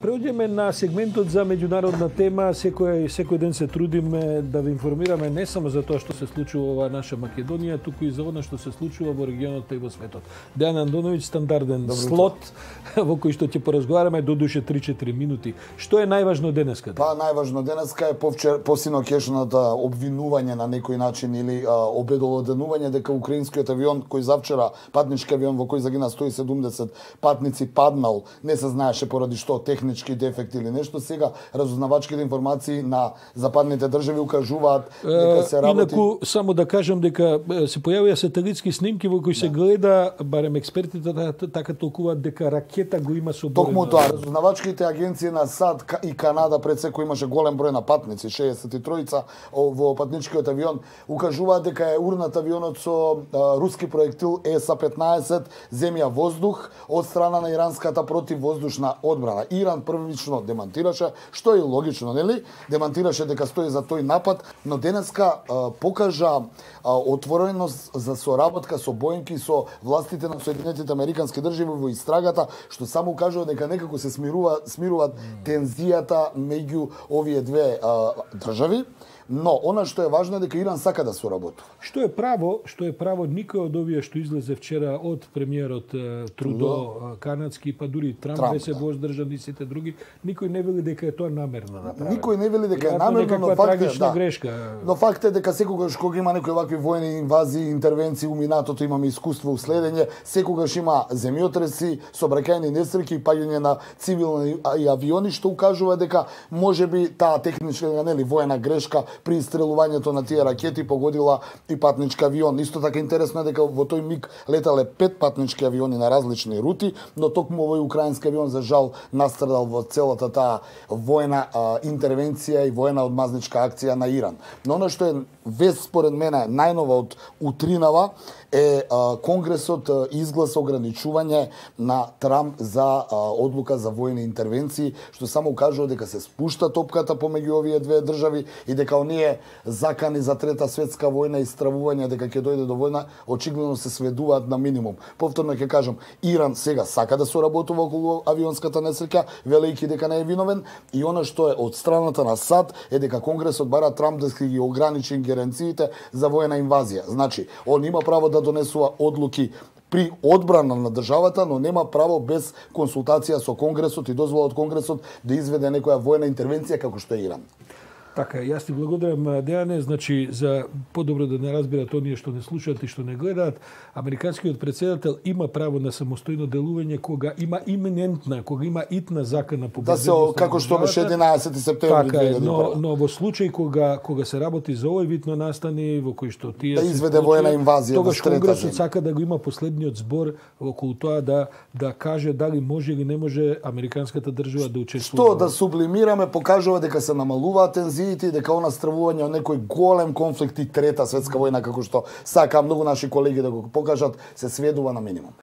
Преоѓаме на сегментот за меѓународна тема. Секој ден се трудиме да ви информираме не само за тоа што се случува во наша Македонија, туку и за она што се случува во регионот и во светот. Дејан Андоновиќ, стандарден слот во кој што ќе поразговараме до душе 3-4 минути. Што е најважно денеска? Па најважно денеска е посинокешната обвинување на некој начин или обедолоденување дека украинскиот авион кој завчера, патнички авион во кој загина 170 патници, паднал, не се знаеше поради што, технички дефект или нешто. Сега разузнавачките информации на западните држави укажуваат дека се работи. Инаку само да кажам дека се појавија сателитски снимки во кои се гледа, барем експертите така толкуваат дека ракета го има соборена. Токму тоа, разузнавачките агенции на САД и Канада пред секој имаше голем број на патници, 63 во патничкиот авион, укажуваат дека е урнат авионот со руски проектил ЕСА-15 земја-воздух од страна на иранската противвоздушна одбрана. Иран првично демантираше, што е логично, нели? Демантираше дека стои за тој напад, но денеска покажа отвореност за соработка со Боинг и со властите на Соединетите Американски држави во истрагата, што само кажува дека некако се смируваат тензијата меѓу овие две држави. Но она што е важно е дека Иран сака да соработува. Што е право, никој од овие што излезе вчера од премиерот Трудо канадски, па дури Трамп се воздржан и сите други, никој не вели дека е тоа намерно направено. Никој не вели дека е намерно, но факт е грешка. Но факт е дека секогаш кога има некои вакви војни инвазии, интервенции, у минатото имаме искуство у следење, секогаш има земјотреси, сообраќајни несреќи и паѓање на цивилни авиони, што укажува дека можеби таа техничка, нели, воена грешка при истрелувањето на тие ракети погодила и патнички авион. Исто така интересно е дека во тој миг летале 5 патнички авиони на различни рути, но токму овој украински авион за жал настрадал во целата таа воена интервенција и воена одмазничка акција на Иран. Но она што е вест според мене најнова од утринава е Конгресот изгласа ограничување на Трамп за одлука за војни интервенции, што само кажува дека се спушта топката помеѓу овие две држави и дека оние закани за трета светска војна и стравување дека ќе дојде до војна очигледно се сведуваат на минимум. Повторно ќе кажам, Иран сега сака да соработува околу авионската несреќа, велејќи дека не е виновен, и она што е од страната на САД е дека Конгресот бара Трамп да ги ограничи ингеренциите за војна инвазија. Значи, он има право да донесува одлуки при одбрана на државата, но нема право без консултација со Конгресот и дозвола од Конгресот да изведе некоја војна интервенција како што е Иран. Така, јас ти благодарам, Дејане, значи, за подобро да не разбират оние што не слушаат и што не гледаат, американскиот претседател има право на самостојно делување кога има иминентна, кога има итна закана по безбедност. Како што беше 11 септември 2001. Но во случај кога се работи за овој вид на настани во кој што тие да изведе воена инвазија, тогаш Конгресот сака да го има последниот збор околу тоа да каже дали може или не може американската држава да учествува. Што да сублимираме покажува дека се намалуваат тензиите и дека она стравување од некој голем конфликт и трета светска војна како што сака многу наши колеги да го покажат се сведува на минимум.